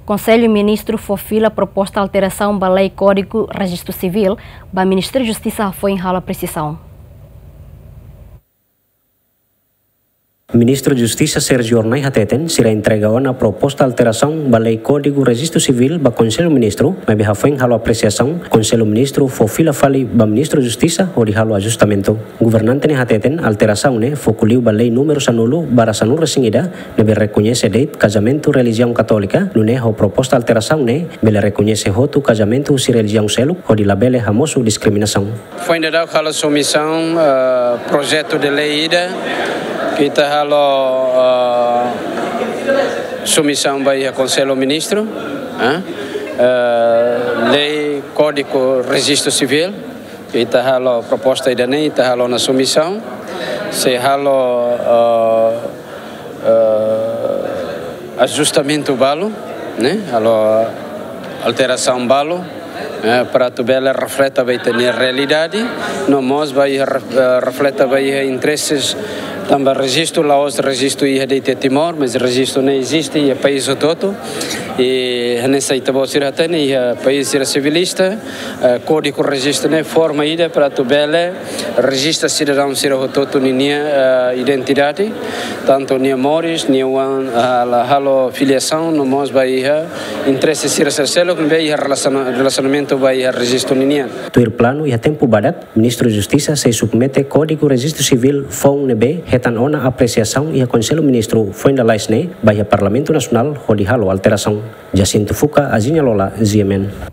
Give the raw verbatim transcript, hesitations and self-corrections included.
Konsellu Ministru fó fila proposta alterasaun ba lei Kódigu Rejistu Sivíl ba Ministériu Justisa hafoin halo apresiasaun. Ministru Justisa Sérgio Hornai hateten, sira entrega ona proposta alterasaun ba lei Kódigu Rejistu Sivíl ba Konsellu Ministru, maibé hafoin halo apresiasaun, Konsellu Ministru fó fila fali ba Ministru Justisa hodi halo ajustamentu. Governante ne'e hateten, alterasaun ne'e foku liu ba lei númeru sanulu barra sanulu-resin-ida, ne'ebé rekoñese de'it kazamentu relijiaun katólika, nune'e ho proposta alterasaun ne'e bele rekoñese hotu kazamentu husi relijiaun seluk, hodi labele hamosu diskriminasaun. Foin daudauk halo submisaun, eh, projetu de lei ida, ke ita halo, eh, submisaun ba iha Konsellu Ministru, eh, eh, lei Kódigu Rejistu Sivíl, ke ita halo proposta ida-ne'e, ita halo ona submisaun, sei halo, eh, eh, ajustamentu balu, ne'e, halo alterasaun balu, eh, para atu bele refleta ba ita-nia realidade, no mós ba iha ref-, eh, refleta ba iha intereses, tanba rejistu la'ós rejistu iha de'it iha Timor, mas rejistu ne'e eziste iha país hotu-hotu, i hanesan ita-boot sira hatene iha país sira sivilista, eh, Kódigu Rejistu ne'e forma ida para atu bele rejista sidadaun sira hotu-hotu ninia, eh, identidade, tantu nia moris, nia oan, ah, la halo filiasaun, no mós ba iha interese sira sel-seluk ne'ebé iha relasiona-, relasionamentu ba iha rejistu ninian. Tuir planu iha tempu badak, Ministru Justisa sei submete Kódigu Rejistu Sivíl foun ne'ebé hetan ona apresiasaun iha Konsellu Ministru foin lalais ne'e ba iha Parlamentu Nasionál hodi halo alterasaun. Jacinto Fuca, Aziña Lola, G M N.